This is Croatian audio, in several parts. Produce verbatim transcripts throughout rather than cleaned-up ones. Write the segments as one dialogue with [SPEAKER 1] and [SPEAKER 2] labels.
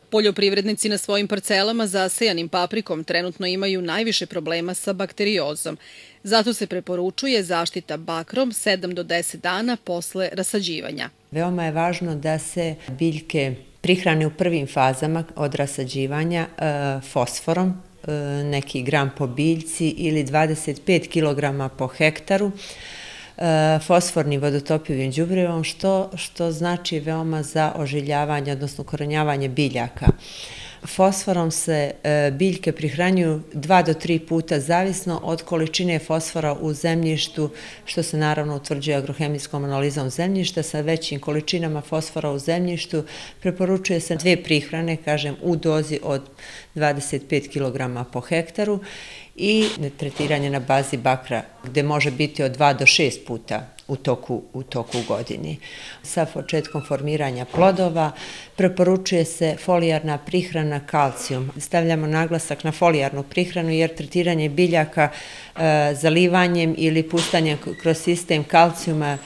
[SPEAKER 1] Poljoprivrednici na svojim parcelama zasejanim paprikom trenutno imaju najviše problema sa bakteriozom. Zato se preporučuje zaštita bakrom sedam do deset dana posle rasađivanja.
[SPEAKER 2] Veoma je važno da se biljke prihrane u prvim fazama od rasađivanja fosforom, neki gram po biljci ili dvadeset pet kilograma po hektaru, fosfornim vodotopivim đubrivom, što, što znači veoma za ožiljavanje, odnosno ukorenjavanje biljaka. Fosforom se biljke prihranjuju dva do tri puta, zavisno od količine fosfora u zemljištu, što se naravno utvrđuje agrohemijskom analizom zemljišta. Sa većim količinama fosfora u zemljištu preporučuje se dve prihrane, kažem, u dozi od dvadeset pet kilograma po hektaru i tretiranje na bazi bakra, gde može biti od dva do šest puta u toku, u toku godini. Sa početkom formiranja plodova preporučuje se folijarna prihrana kalcijum. Stavljamo naglasak na folijarnu prihranu jer tretiranje biljaka e, zalivanjem ili pustanjem kroz sistem kalcijuma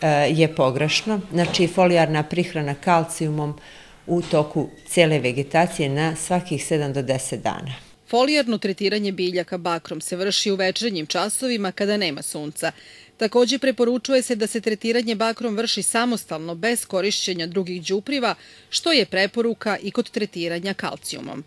[SPEAKER 2] e, je pogrešno. Znači folijarna prihrana kalcijumom u toku cijele vegetacije na svakih sedam do deset dana.
[SPEAKER 1] Folijarno tretiranje biljaka bakrom se vrši u večernjim časovima kada nema sunca. Također preporučuje se da se tretiranje bakrom vrši samostalno bez korišćenja drugih đubriva, što je preporuka i kod tretiranja kalcijumom.